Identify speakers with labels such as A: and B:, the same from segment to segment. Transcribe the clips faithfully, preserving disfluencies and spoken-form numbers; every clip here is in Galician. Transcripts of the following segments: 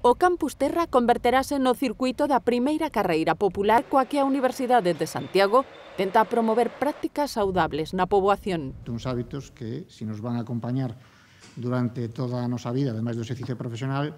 A: O Campus Terra converterase no circuito da primeira carreira popular coa que a Universidade de Santiago tenta promover prácticas saudables na poboación.
B: Uns hábitos que, se nos van a acompañar durante toda a nosa vida, ademais do exercicio profesional,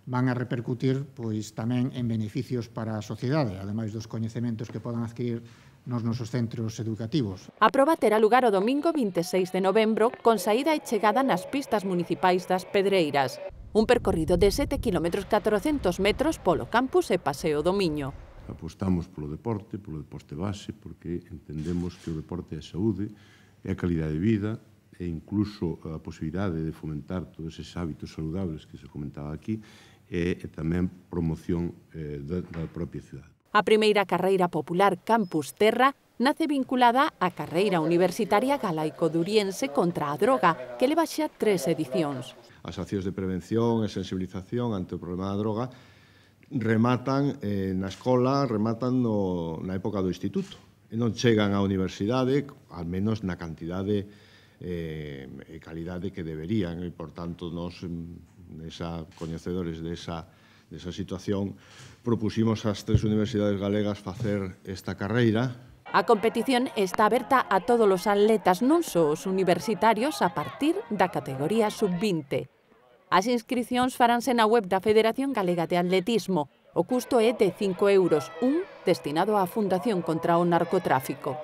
B: van a repercutir pois tamén en beneficios para a sociedade, ademais dos coñecementos que podan adquirir nos nosos centros educativos.
A: A proba terá lugar o domingo vinte e seis de novembro con saída e chegada nas pistas municipais das Pedreiras. Un percorrido de sete kilómetros catrocentos metros polo campus e Paseo do Miño.
C: Apostamos polo deporte, polo deporte base, porque entendemos que o deporte é saúde, é a calidade de vida, e incluso a posibilidade de fomentar todos eses hábitos saludables que se comentaba aquí, e tamén promoción da propia cidade.
A: A primeira carreira popular Campus Terra nace vinculada á carreira universitaria galaico-duriense contra a droga, que leva xa tres edicións.
D: As accións de prevención e sensibilización ante o problema da droga rematan eh, na escola, rematan no, na época do instituto. E non chegan á universidade, al menos na cantidade e eh, calidade que deberían. E, por tanto, nos, nesa, coñecedores desa, desa situación, propusimos ás tres universidades galegas facer esta carreira.
A: A competición está aberta a todos os atletas, non só os universitarios, a partir da categoría sub vinte. As inscricións faránse na web da Federación Galega de Atletismo. O custo é de cinco euros, un destinado á Fundación contra o Narcotráfico.